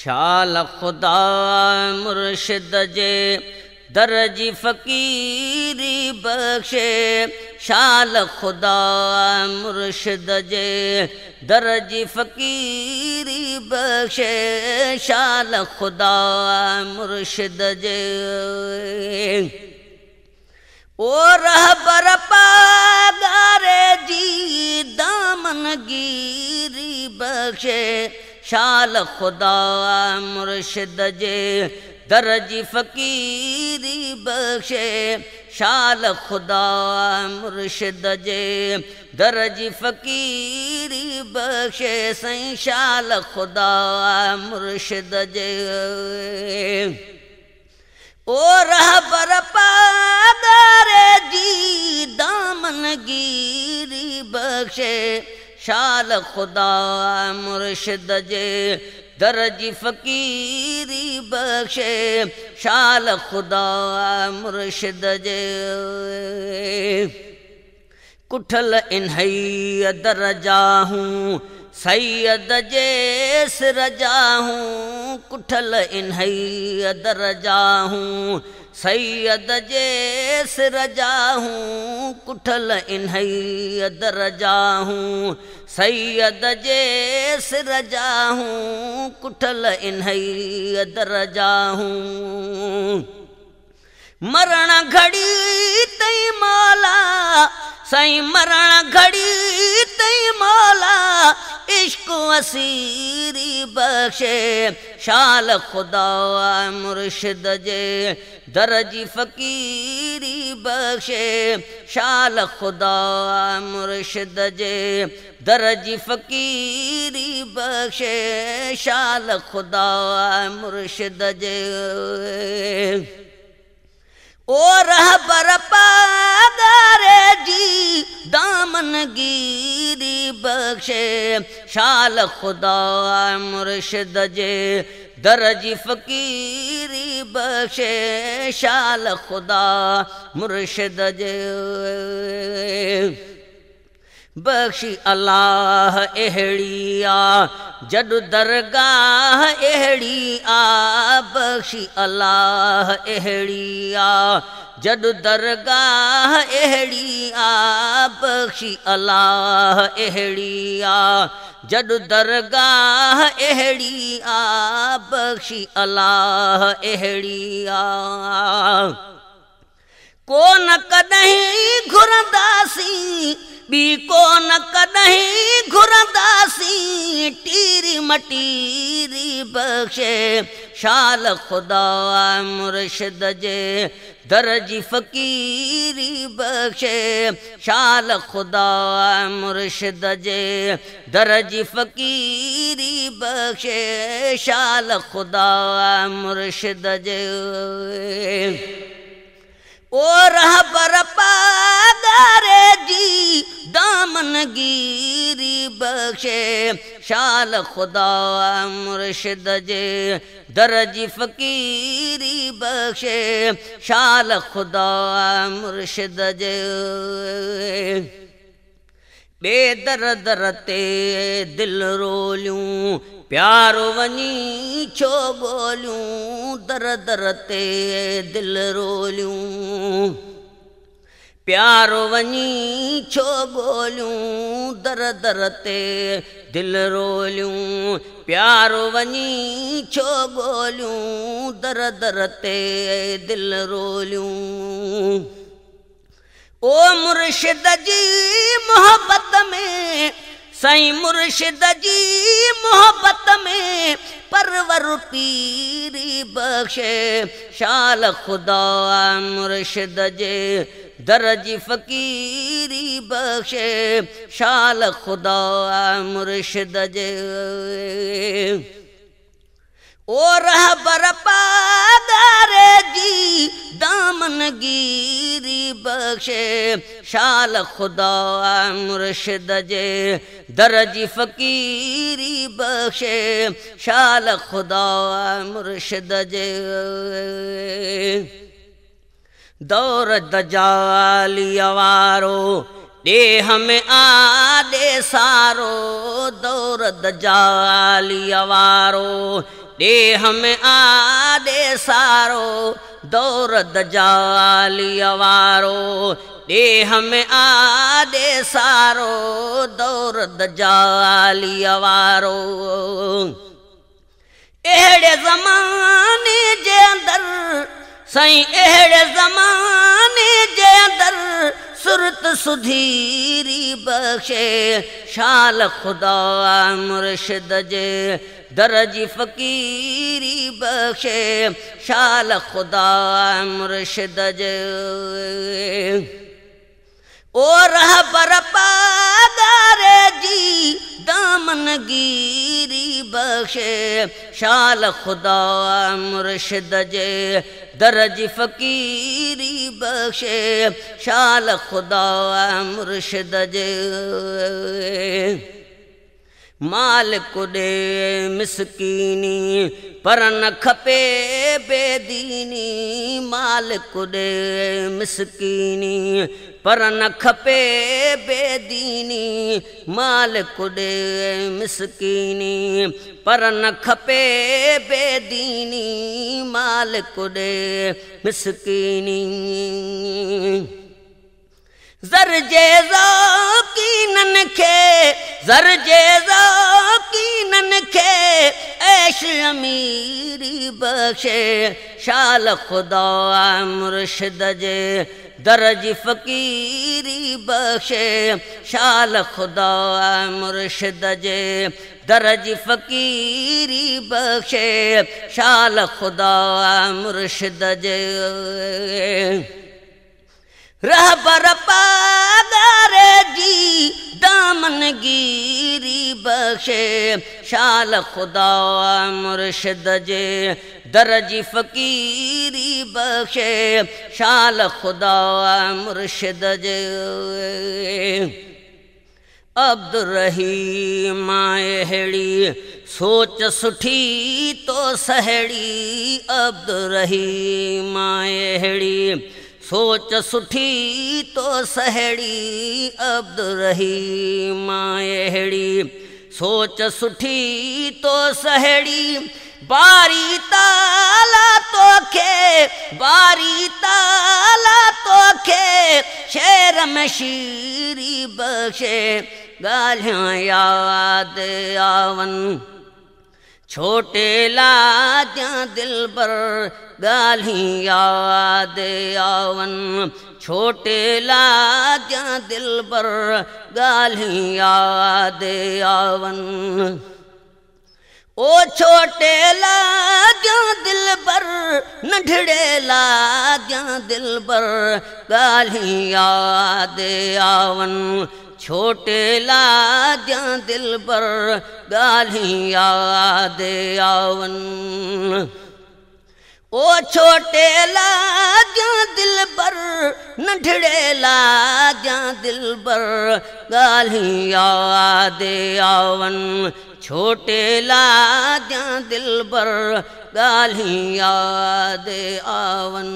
शाल ख़ुदा मुर्शिद जे दर जी फ़क़ीरी बख़्शे। शाल ख़ुदा मुर्शिद जे दर जी फ़क़ीरी बख़्शे। शाल ख़ुदा मुर्शिद जे ओ रहबर पागारे जी दामन गिरी बख़्शे। शाल ख़ुदा मुर्शिद जे दर जी फ़क़ीरी बख़्शे। शाल ख़ुदा मुर्शिद जे दर जी फ़क़ीरी बख़्शे। साईं शाल ख़ुदा मुर्शिद जे ओ रहबर पागारे जी दामन गिरी बख़्शे। शाल ख़ुदा मुर्शिद जे दर जी फ़क़ीरी बख़्शे। शाल ख़ुदा मुर्शिद जे कुठल इन्हई दर जाहूँ सैयद जे सिर जाहूँ। कुठल इन्हई दर जाहूँ सैयद जे सिर जाहूँ। कुठल इन्हई दर जाहूँ सैयद जे सिर जाहूँ। कुठल इन्हई दर जाहूँ मरण घड़ी तई मौला साईं मरण घड़ी तई मौला इश्क असीरी बख़्शे। शाल ख़ुदा मुर्शिद जे दर जी फ़क़ीरी बख़्शे। शाल ख़ुदा मुर्शिद जे दर जी फ़क़ीरी बख़्शे। शाल ख़ुदा मुर्शिद जे ओ रहबर पागारे जी दामन गिरी बख़्शे। शाल ख़ुदा मुर्शिद जे दर जी फ़क़ीरी बख़्शे। शाल ख़ुदा मुर्शिद जे बख़्शी अल्लाह अहिड़ी आ जॾु दरगाह अहिड़ी आ। बख़्शी अल्लाह अहिड़ी आ जॾु दरगाह अहिड़ी आ। बख़्शी अल्लाह अहिड़ी आ जॾु दरगाह अहिड़ी आ। बख़्शी अल्लाह अहिड़ी आ कोन कॾहिं घुरंदासीं ॿी कोन कॾहिं घुरंदासीं टीरी मटीरी बख़्शे। शाल ख़ुदा मुर्शिद जे दर जी फ़क़ीरी बख़्शे। शाल ख़ुदा मुर्शिद जे दर जी फ़क़ीरी बख़्शे। शाल ख़ुदा मुर्शिद जे ओ रहबर पागारे जी दामन गिरी बख़्शे। शाल ख़ुदा मुर्शिद जे दर जी फ़क़ीरी बख़्शे। शाल ख़ुदा मुर्शिद जे ॿिए दर दर ते दिल रोलियूं प्यारो वञी छो ॻोल्हियूं। दर दर ते दिल रोलियूं प्यारो वञी छो ॻोल्हियूं। दर दर ते दिल रोलियूं प्यारो वञी छो ॻोल्हियूं। दर दर ते दिल रोलियूं ओ मुर्शिद जी मोहब्बत में साईं मुर्शिद जी मोहब्बत में परवर पीरी बख़्शे। शाल ख़ुदा मुर्शिद जे दर जी फ़क़ीरी बख़्शे। शाल ख़ुदा मुर्शिद जे ओ रहबर पागारे जी दामन गिरी बख़्शे। शाल ख़ुदा मुर्शिद जे दर जी फ़क़ीरी बख़्शे। शाल ख़ुदा मुर्शिद जे दौर दजालिया वारो ॾेह में आ ॾे सारो। दौर दजालिया वारो ڏيهه ۾ آڏي سارو دور دجاليءَ وارو ڏيهه ۾ آڏي سارو دور دجاليءَ وارو. اهڙي زماني جي اندر سائين اهڙي زماني جي اندر سرت سڌيري بخشي شال خدا مرشد جي در جي فقيري بخشي شال خدا مرشد جي. او رهبر پاڳاري جي دامنگيري بخشي شال خدا مرشد جي در جي فقيري بخشي شال خدا مرشد جي. مالڪ ڏي مسڪيني پر نه کپي بيديني مالڪ ڏي مسڪيني پر نه کپي بيديني مالڪ ڏي مسڪيني پر نه کپي بيديني مالڪ ڏي مسڪيني. زر جي ذوقينن کي زر جي ذوقينن کي عيش اميري بخشي شال خدا مرشد جي در جي فقيري بخشي شال خدا مرشد جي در جي فقيري بخشي شال خدا مرشد جي. رهبر پاڳاري جي دامنگيري بخشي شال خدا مرشد جي در جي فقيري بخشي شال خدا مرشد جي. عبدالرحيم اهڙي سوچ سٺي تو سهڙي عبدالرحيم اهڙي سوچ سٺي تو سهڙي عبدالرحيم اهڙي سوچ سٺي تو سهڙي. باري تالا توکي باري تالا توکي شعر ۾ شيري بخشي ڳالهيون ياد آون ڇوٽي لاجان دلبر ڳالهيون ياد آون ڇوٽي لاجان دلبر ڳالهيون ياد آون. او ڇوٽي لاجان دلبر ننڍڙي لاجان دلبر ڳالهيون ياد آون ڇوٽي لاجان دلبر ڳالهيون ياد آون. او ڇوٽي لاجان دلبر ننڍڙي لاجان دلبر ڳالهيون ياد آون ڇوٽي لاجان دلبر ڳالهيون ياد آون.